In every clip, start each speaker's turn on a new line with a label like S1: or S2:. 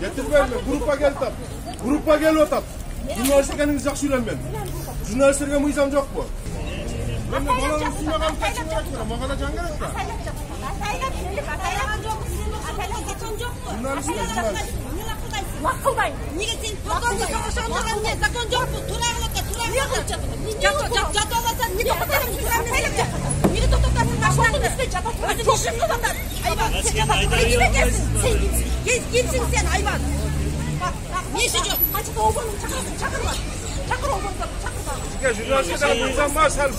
S1: Getirmeyme, gruppa gelip atat. Jurnalistleriniz жақсы үйrenmen. Jurnalistlerge mıyzam жоқ bu. Ben de balanın üstüne kalıp kaçın bırakmıyorum. O kadar can gerek de.
S2: Vakıldayım. Niye sen tokanlı savaşan olanın ne? Zakon yok mu? Turağılıkta, turağılıkta. Jatolasan niye tokatarım? Niye tokatarım? Başlarını üstüne jatolasan. Çok şıkkı vatanlar. Hayvan. Sen jatolasan. Kime gelsin? Sen kimsin? Kimsin sen hayvan? Ne işi yok? Açık oğlum çakırma. Çakır oğlum çakırma.
S1: Ya jurnalistlerden mıyzam var sen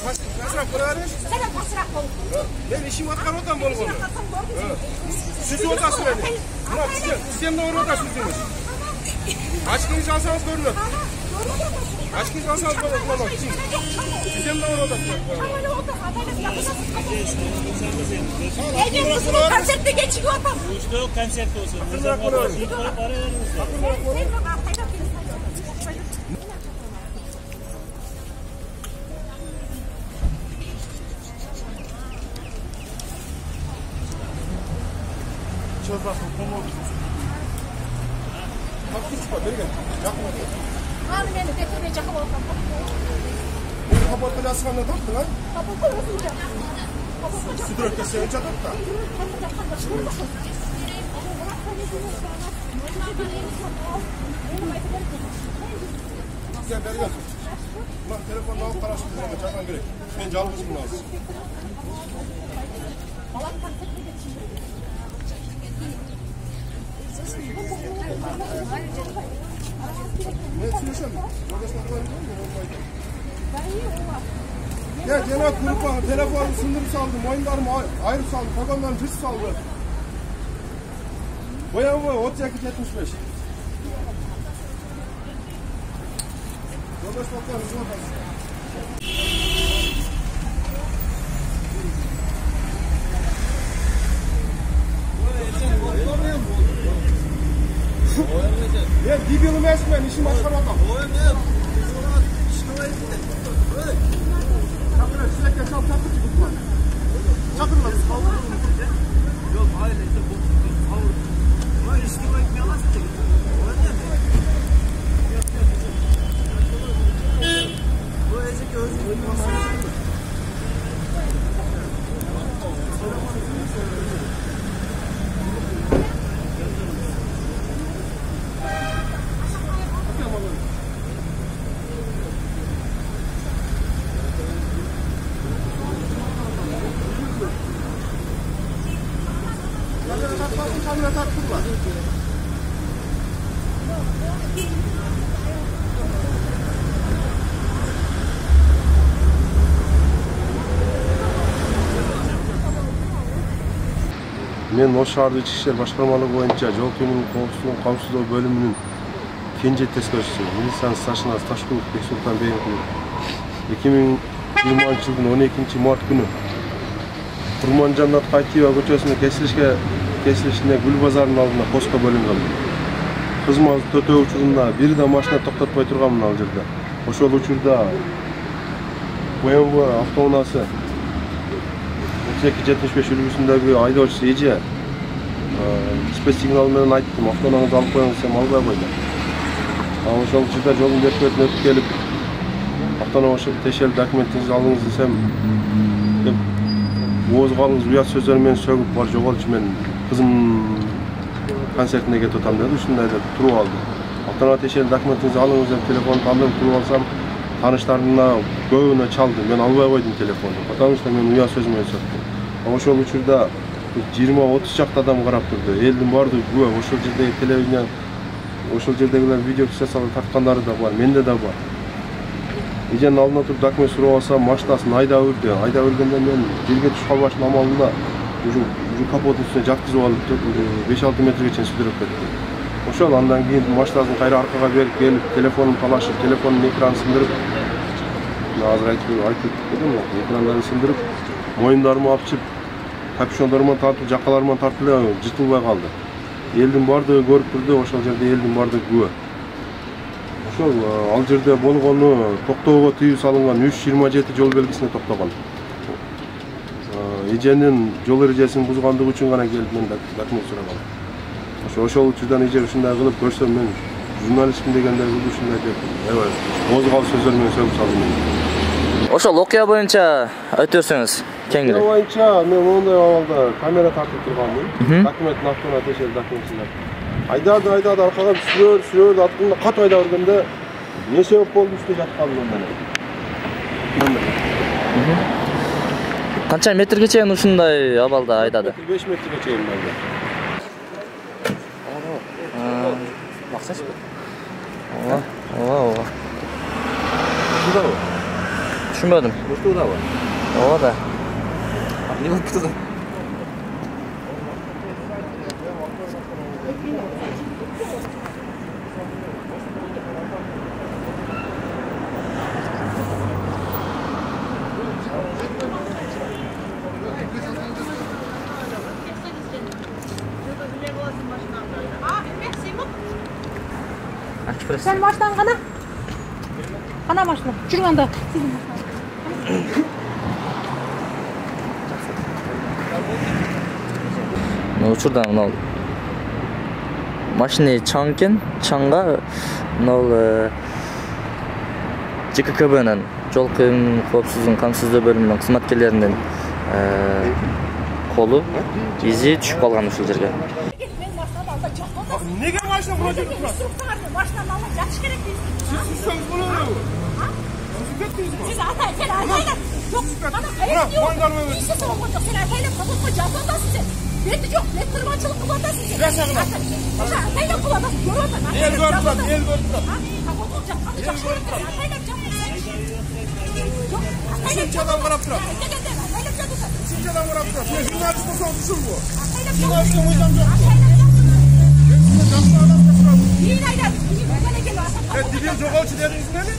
S1: pasraf kurarız.
S2: Sen pasraf ol.
S1: Ben işim atkar otam bol bunu. Siz otasın beni. Bırak sizden doğru otasınız. Açkınız alsanız görünür. Açkınız alsanız görünür. Sizden doğru otasınız.
S2: Ege kızımın konserte geçiyor otam.
S3: Uçta yok konserte olsun. Nizam var olsun. Para veririz.
S1: Çözmasın, komodu. Hakkısı var, beri gel. Yakın ol.
S2: Abi beni getirmeye çakıl olsam.
S1: Beni kapatın asılanla taktın ha?
S2: Kapatın olsun.
S1: Sütürökte seni çatıp da. Gel, beri gel. Ulan telefonla alıp karasın, çakman gerek. Ben calgızım lazım. Ne söylesem? Ya Cenab gruppa telefonu sındırıp saldı, moyunlarımı ayrıp saldı, takonlarımı cırt saldı. Boyan boy, 32-75. Yoldaş toplarınızı bakalım. Ya dibilim esmen, işim aşkar adam. Çakırlar, size geçen çakır çıkıp var. Çakırlar,
S3: Yok ailece bozuldu. Kavurdu. Ama işkima ekmeği nasıl çekiyor? Bu ezeki özgürlük masası.
S1: Men Ош шаардык ички иштер башкармалыгы боюнча жол кыймылын коопсуздугу бөлүмүнүн кенже тескерчиси милициянын старшинасы Ташкулов Бексултан Бейгулов 2020 жылдын 12 март күнү Курманжанат Кайтиева көчөсүнө кесилишине Гүл базарынын алдында постко бөлүнгөн. Кызмат төтөө учурунда бир да машина токтотпой турганмын ал жерде. Ошол учурда BMW автоунаасы 32-75 үлгүсүндөгү айдоочусу эже спец сигнал менен айттым, автоунааңызды алып коюңуз десем албай койду. Ошол учурда жолдун бет бетине өтүп келип, автоунаа тешелип документиңизди алыңыз десем, оозго алыңыз уят сөздөр менен сөгүп бар жоголчу, мен кызым концертине кетип атам деди, ушундай деп туруп алды. Автоунаа тешелип документиңизди алыңыз деп телефонду алдым, туруп алсам, тааныштарына көбүнө чалды. Мен албай койдум телефонду, потому что мен уят сөз менен сөктүм. Ошол учурда 20-30 чакты адам карап турду. Элдин баардыгы күбө, ошол жердеги телевидение, ошол жердегилер видео фиксациялап тарткандары да бар, менде да бар. Эженин алдына туруп документ сурап алсам, машинасын айдап үрдү. Айдап үргөндө мен жерге түшүп калбаштын амалында уже капоттун үстүнө жаткызып алып 5-6 метрге чейин сүдүрүп кетти. Ошол андан кийин машинасын кайра аркага берип келип, телефонун талашып, телефонун экранын сындырып, азыр айтып кетем, экрандарын сындырып, моюндарымы апчып, капюшондоруман тартып, жакаларыман тартып эле жыртылбай калды. Элдин баардыгы көрүп турду, ошол жерде элдин баардыгы күбө. Ошол ал жерде болгону токтоого тыюу салынган 327 жол белгисине токтогон. Эженин жол эрежесин бузгандыгы үчүн гана келип мен документ сураган. Ошол учурдан эже ушундай кылып көрсөм мен журналистмин дегендер кылып ушундай деп козгал сөздөр менен сөгүп салды мени.
S4: Ошол окуя боюнча айтып берсеңиз кеңири.
S1: Окуя боюнча мен мондай абалда камера тартып турганмын. Документтин астына тешелип документчилер. Айдады аркага сүрөдү артында кат айдап бергенде эмне себеп болду үстү жатканын менен.
S4: Канча метрге чейин ушундай абалда айдады?
S1: 5 метрге чейин айдады.
S4: Максатчы? Ооба.
S3: Ушудабы?
S4: Түшүнбөдүм.
S3: Ушудабы?
S4: Ооба да.
S3: Эмне болуп турду?
S2: Sen baştan kana. Kana başla. Жүрүң анда.
S4: Учурдан мынау машина чаң экен, чаңга мынау ЖККБнын жол коопсуздугун камсыздоо бөлүмүнүн кызматкерлеринин колу изи түшүп калган ушул жерге.
S1: Неге машина кура жүрүп турат?
S2: Машинаны алып жатыш керек дейсиз.
S1: Siz bolur.
S2: Siz ata sen aytaylar. Yok bana hayır diyor. İşte sonra koyduk sen aytaylar kapatma canlandasın sen. Beti yok. Ne kırmaçılık kullandasın sen.
S1: Resmen.
S2: Aytaylar kullandasın. Görüyorsun.
S1: El görüp turat.
S2: Kapat olacak. Aytaylar canlandasın. Yok.
S1: Üçüncü adam qarap turat. Üçüncü adam qarap turat. Sen jurnalist olsan düşür bu. Jurnalist olmayacağım yok. Dilin jogalçı dediniz neni?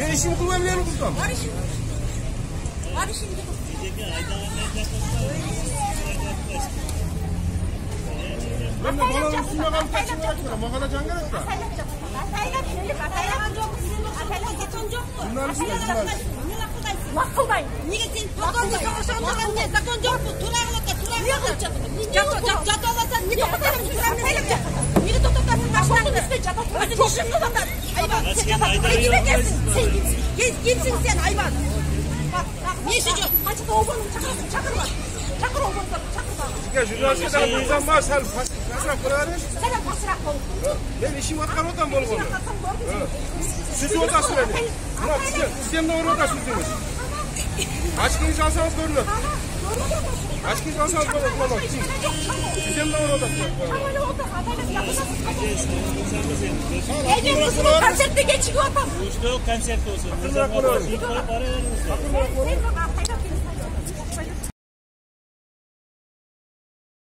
S1: Ben işimi kılmam buradan.
S2: Var işim.
S1: Ben de balanın üstünde kalıp kaçın gerek var. Makala can gerek var.
S2: Laf kılmayın. Niye sen zakonda savaşanlardan ne? Zakon yok mu? Turağlıkta. Jatolasan niye tokatarım? Niye tokatarım? Başlarını üstüne jatolasan. Özü düşün kılanlar. Ayvan sen jatolasan. Kime gelsin? Sen kimsin? Kimsin sen ayvan? Bak. Ne işi yok? Açıkta oğlum çakır var. Çakır oğlum çakır var.
S1: Sizge jurnalistler bu yüzden var. Sen pasrak koyarız.
S2: Sen pasrak koy.
S1: Ben işim atkan odan bol bol. Siz oda süreniz. Sizden doğru oda sürdünüz. Açkınız alsanız görülür. Açkınız alsanız görülür. Sizden doğru oda süreniz.
S2: Konserte geçiyor adam.
S5: Konsertte olsun.
S1: Akıllı